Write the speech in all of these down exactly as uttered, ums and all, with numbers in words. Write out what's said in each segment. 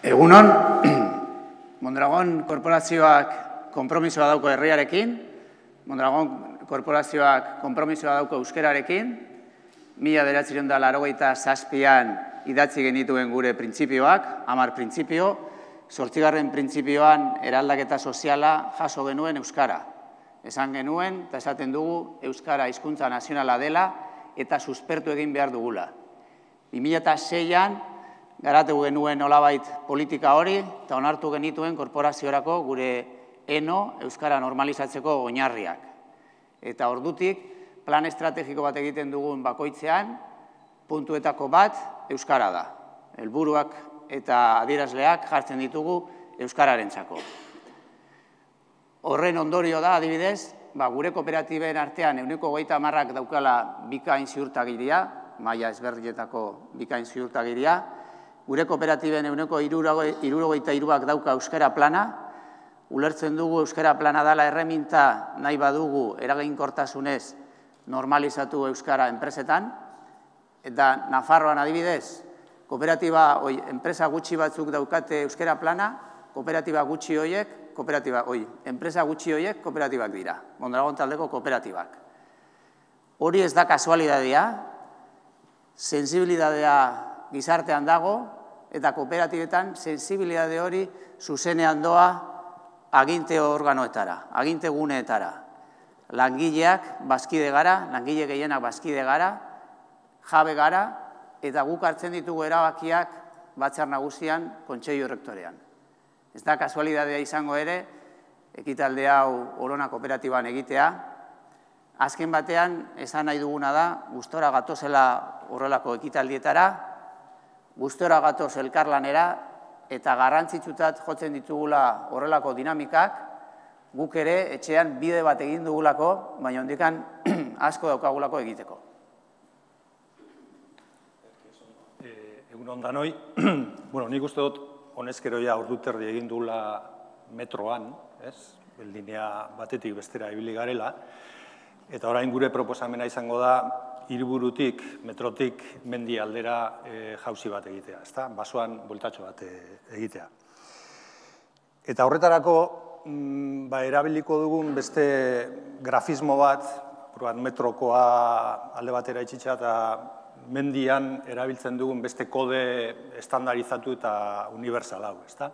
Egunon, Mondragon korporazioak konpromisoa dauko herriarekin, Mondragon korporazioak konpromisoa dauko euskerarekin, mila bederatziehun eta laurogeita zazpian idatzi genituen gure printzipioak, hamar printzipio, zortzigarren printzipioan eraldaketa soziala jaso genuen euskara. Esan genuen, eta esaten dugu, euskara hizkuntza nazionala dela eta suspertu egin behar dugula. bi mila seian garatu genuen nolabait politika hori eta onartu genituen korporaziorako gure eno euskara normalizatzeko oinarriak. Eta ordutik, plan estrategiko bat egiten dugun bakoitzean, puntuetako bat euskara da. Helburuak eta adierazleak jartzen ditugu euskararentzako. Horren ondorio da, adibidez, gure kooperatiben artean ehuneko hogeita hamarrak daukala bikain ziurtagiria, maila ezberdinetako bikain ziurtagiria, gure kooperatiben ehuneko hirurogeita hiruak dauka euskara plana, ulertzen dugu euskara plana dela erreminta nahi badugu eraginkortasunez normalizatu euskara enpresetan, eta Nafarroan adibidez, kooperatiba, enpresa gutxi batzuk daukate euskara plana, kooperatiba gutxi horiek, kooperatiba, oi, enpresa gutxi horiek kooperatibak dira, Mondragon taldeko kooperatibak. Hori ez da kasualidadea, sensibilidadea gizartean dago, eta kooperatibetan sensibilidade hori zuzenean doa aginte organoetara, aginte guneetara. Langileak bazkide gara, langile gehienak bazkide gara, jabe gara, eta guk hartzen ditugu erabakiak batzar nagusian kontseilu errektorean. Ez da kasualidadea izango ere, ekitalde hau Orona kooperatiban egitea. Azken batean, esan nahi duguna da, gustora gatozela horrelako ekitaldietara, gustora gatoz elkarlanera, eta garrantzitsutat jotzen ditugula horrelako dinamikak, guk ere etxean bide bat egin dugulako, baina hondikan asko daukagulako egiteko. Egun ondanoi, nik uste dut honezkeroia orduterdi egin dugula metroan, linea batetik bestera ibili garela, eta orain gure proposamena izango da hiriburutik, metrotik mendi aldera jauzi bat egitea, basoan bueltatxo bat egitea. Eta horretarako erabiliko dugun beste grafismo bat, metrokoa alde batera itxitza eta mendian erabiltzen dugun beste kode estandarizatu eta universal hau, ezta?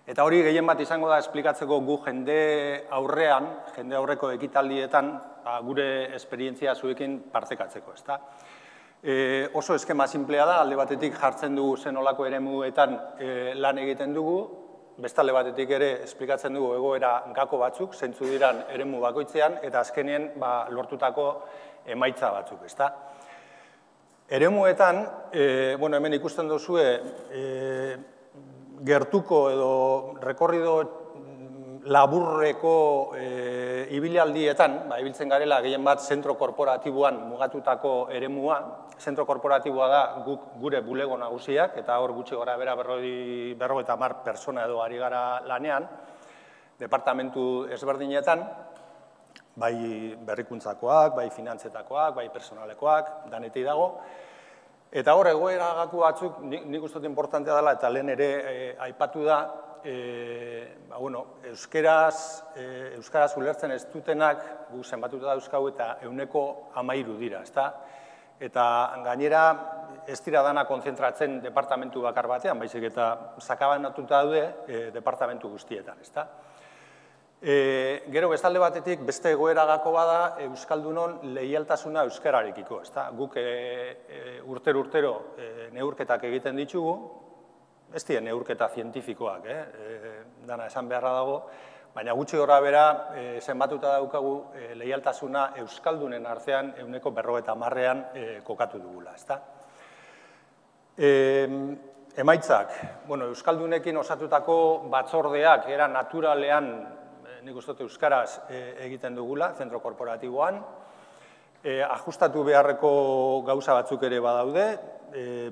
Eta hori gehien bat izango da esplikatzeko gu jende aurrean, jende aurreko ekitaldietan, gure esperientzia zuekin partekatzeko, ezta? Oso eskema simplea da, alde batetik jartzen dugu zenolako eremuetan lan egiten dugu, beste alde batetik ere esplikatzen dugu egoera gako batzuk, zentzu diran eremu bakoitzean, eta azkenien lortutako emaitza batzuk, ezta? Eremuetan, hemen ikusten duzue, gertuko edo rekorrido laburreko ibilialdietan, ibiltzen garela gehien bat zentro korporatiboan mugatutako eremua, zentro korporatiboa da gure bulego nagusiak, eta hor gutxi gora bera berrogeita hamar pertsona edo ari gara lanean, departamentu ezberdinetan, bai berrikuntzakoak, bai finantzetakoak, bai personalekoak, danetik dago. Eta hor, egoera gaku batzuk, nik uste dut importantea dela, eta lehen ere aipatu da, euskaraz ulertzen ez dutenak, gu zenbatuta dauzkau eta ehuneko hamairu dira, ezta? Eta gainera, ez dira dana kontzentratzen departamentu bakar batean, baizik eta sakabanatuta daude departamentu guztietan, ezta? Gero, bestalde batetik, beste egoera gako bada, Euskaldunon leialtasuna euskararekiko, ezta? Guk urtero-urtero neurketak egiten ditugu, ez dira neurketa zientifikoak, dana esan beharra dago, baina gutxi gora bera zenbatuta daukagu leialtasuna Euskaldunen artean ehuneko berrogeita hamarrean kokatu dugula, ezta? Emaitzak, Euskaldunekin osatutako batzordeak era naturalean nik uste dut euskaraz egiten dugula, zentro korporatiboan. Ajustatu beharreko gauza batzuk ere badaude,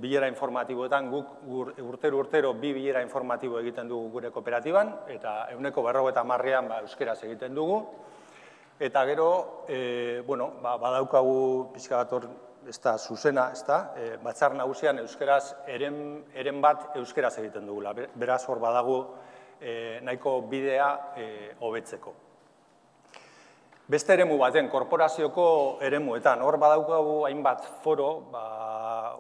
bilera informatiboetan, guk urtero-urtero bi bilera informatibo egiten dugu gure kooperatiban, eta ehuneko berrogeita hamarrean euskaraz egiten dugu. Eta gero, badaukagu pixka bat hor ez da zuzena, ez da, batzar nagusian euskeraz eren bat euskeraz egiten dugula. Beraz, hor badago nahiko bidea hobetzeko. Beste eremu baten, korporazioko eremuetan, hor badaukagu hainbat foro,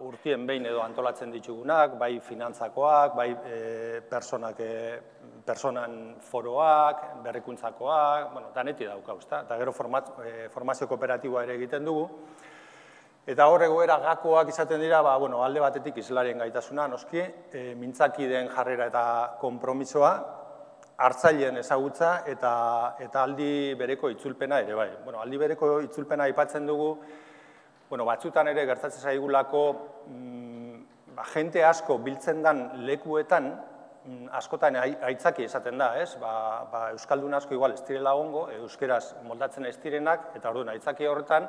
urtien behin edo antolatzen ditugunak, bai finantzakoak, bai personan foroak, berrikuntzakoak, bueno, daneti daukau, eta gero formazio kooperatiboa ere egiten dugu. Eta hor egoera gakoak izaten dira, alde batetik islarien gaitasuna, noski, mintzakideen jarrera eta konpromisoa, hartzaileen ezagutza eta aldi bereko itzulpena ere bai. Aldi bereko itzulpena aipatzen dugu, batzutan ere gertatzen zaigulako jente asko biltzen den lekuetan, askotan aitzaki esaten da, ez? Euskaldun asko igual ez direla ongo, euskeraz moldatzen ez direnak, eta orduan aitzaki horretan,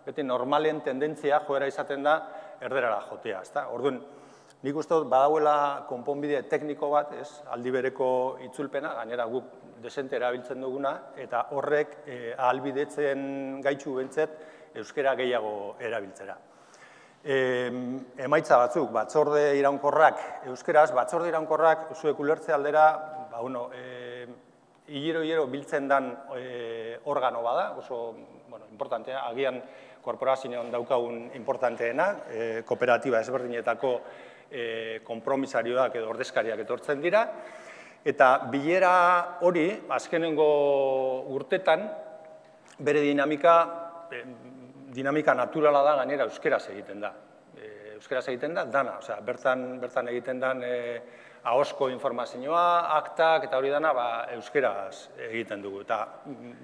beti normalen tendentzia joera izaten da erderara jotea, ez da? Orduan, nik uste dut badauela konponbide tekniko bat, ez? Aldi bereko itzulpena, gainera guk desente erabiltzen duguna, eta horrek ahalbidetzen gaitxu bentzet euskera gehiago erabiltzera. Emaitza batzuk, batzorde iraunkorrak euskeraz, batzorde iraunkorrak zuek ulertze aldera, hilero-hilero biltzen den organo bada, oso importantea, agian korporazioan daukagun importanteena, kooperatiba ezberdinetako konpromisarioak edo ordezkariak etortzen dira, eta bilera hori, azkenengo urtetan, bere dinamika, dinamika naturala da gainera euskeraz egiten da. Euskeraz egiten da, dana, bertan egiten den ahosko informazioa, aktak eta hori dana euskeraz egiten dugu. Eta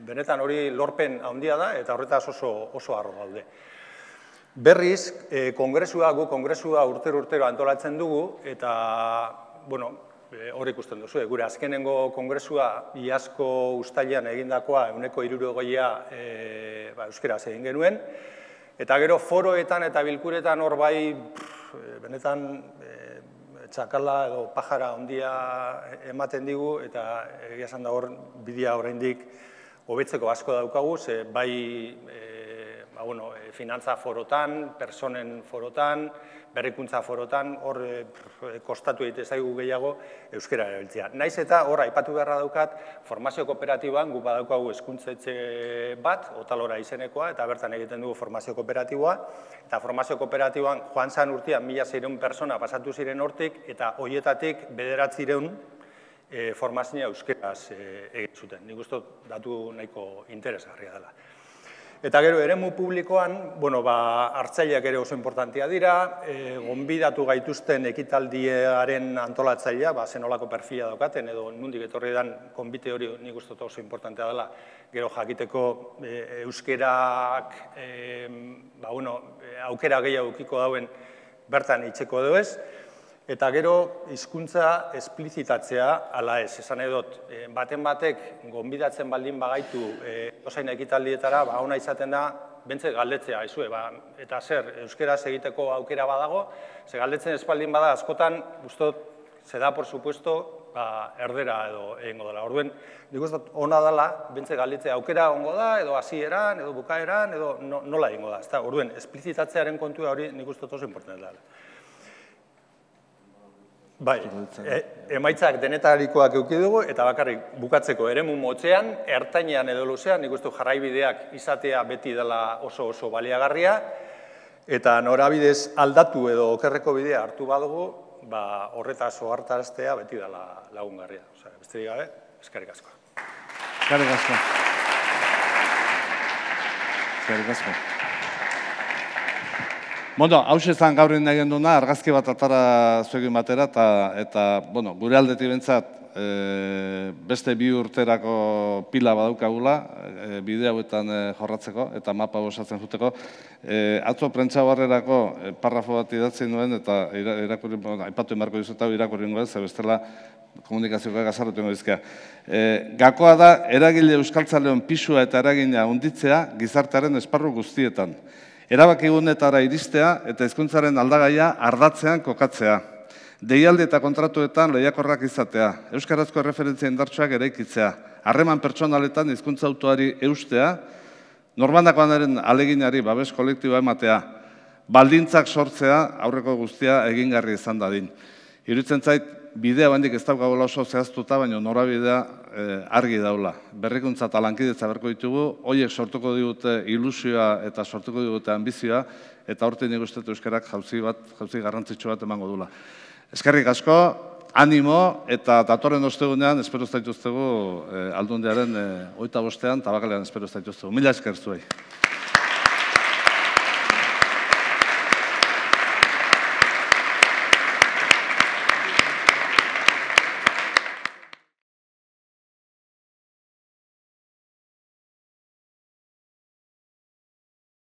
benetan hori lorpen handia da eta horretaz oso harro gaude. Berriz, kongresua, gu kongresua urtero-urtero antolatzen dugu, eta, bueno, hor ikusten duzu, gure azkenengo kongresua iazko uztailean egindakoa ehuneko hirurogeia euskeraz egin genuen, eta gero foroetan eta bilkuretan hor bai, benetan, txakala edo pajara handia ematen digu, eta egia esan da hor bidea oraindik hobetzeko asko daukagu, ze bai finantza forotan, personen forotan, berrikuntza forotan, hor kostatu egite zaigu gehiago euskera erabiltzea. Naiz eta hor aipatu beharra daukat, formazio kooperatiboan gu badaukagu hezkuntzetxe bat, Otalora izenekoa, eta bertan egiten dugu formazio kooperatiboa, eta formazio kooperatiboan joan zan urtean mila seiehun persona pasatu ziren hortik, eta horietatik bederatziehun formazioa euskeraz egin zuten. Nik uste datu nahiko interesgarria dela. Eta gero, eremu publikoan, hartzaileak ere oso importantia dira, gonbidatu gaituzten ekitaldiaren antolatzailea, zenolako perfila daukaten, edo nondik etorri den konbite hori nik uste oso importantea dela, gero jakiteko euskerak aukera gehiago ukiko dauen bertan itxeko edo ez, eta gero hizkuntza esplizitatzea ala ez, esan edot, baten batek gonbidatzen baldin bagaitu osain ekitaldietara, ona izaten da, bentset galdetzea, eta zer, euskeraz egiteko aukera badago, ze galdetzen espaldin bada, askotan, guztot, ze da, por supuesto, erdera edo egingo dela. Orduen, nik uste ona dela, bentset galdetzea aukera ongo da, edo hasieran, edo bukaeran, edo nola egingo da. Orduen, esplizitatzearen kontua hori nik uste oso importantea dela. Bai, emaitzak denetarikoak eduki dugu, eta bakarrik bukatzeko eremu motzean, ertainean edo luzean, nik uste jarraibideak izatea beti dela oso oso baliagarria, eta norabidez aldatu edo okerreko bidea hartu badugu, horretaz ohartaraztea beti dela lagungarria. Besterik gabe, eskerrik asko. Eskerrik asko. Eskerrik asko. Bueno, hause zan gaur egin duna, argazki bat atara zuegin batera, eta gure aldetik bentsat beste bi urterako pila badaukagula, bide hauetan jorratzeko, eta mapa osatzen juteko. Atzo prentsa barrerako parrafo bat idatzen nuen, eta aipatu emarko dizuta, irakurri nuen, ze bestela komunikazioak azarrotu ingo dizkea. Gakoa da, eragile euskaltzaleon pisua eta eragina hunditzea gizartearen esparru guztietan. Erabakigunetara iristea eta hizkuntzaren aldagaia ardatzean kokatzea. Deialdi eta kontratuetan lehiakorrak izatea. Euskarazko erreferentzia indartsuak eraikitzea. Harreman pertsonaletan hizkuntza autoari eustea. Norbandakoanaren aleginari babes kolektiboa ematea. baldintzak sortzea aurreko guztia egingarri izan dadin. Iruditzen zait, bidea bandik ez daukagula oso zehaztuta, baina norabidea argi daula. Berrikuntza eta lankidetza berko ditugu, horiek sortuko digute ilusioa eta sortuko digute ambizioa, eta horten nik uste euskarak jauzi bat, jauzi garrantzitsu bat emango dula. Eskerrik asko, animo, eta datorren ostegunean, espero ez daituztegu aldundiaren hogeita bostean, tabakalean espero ez daituztegu. Mila esker zuei.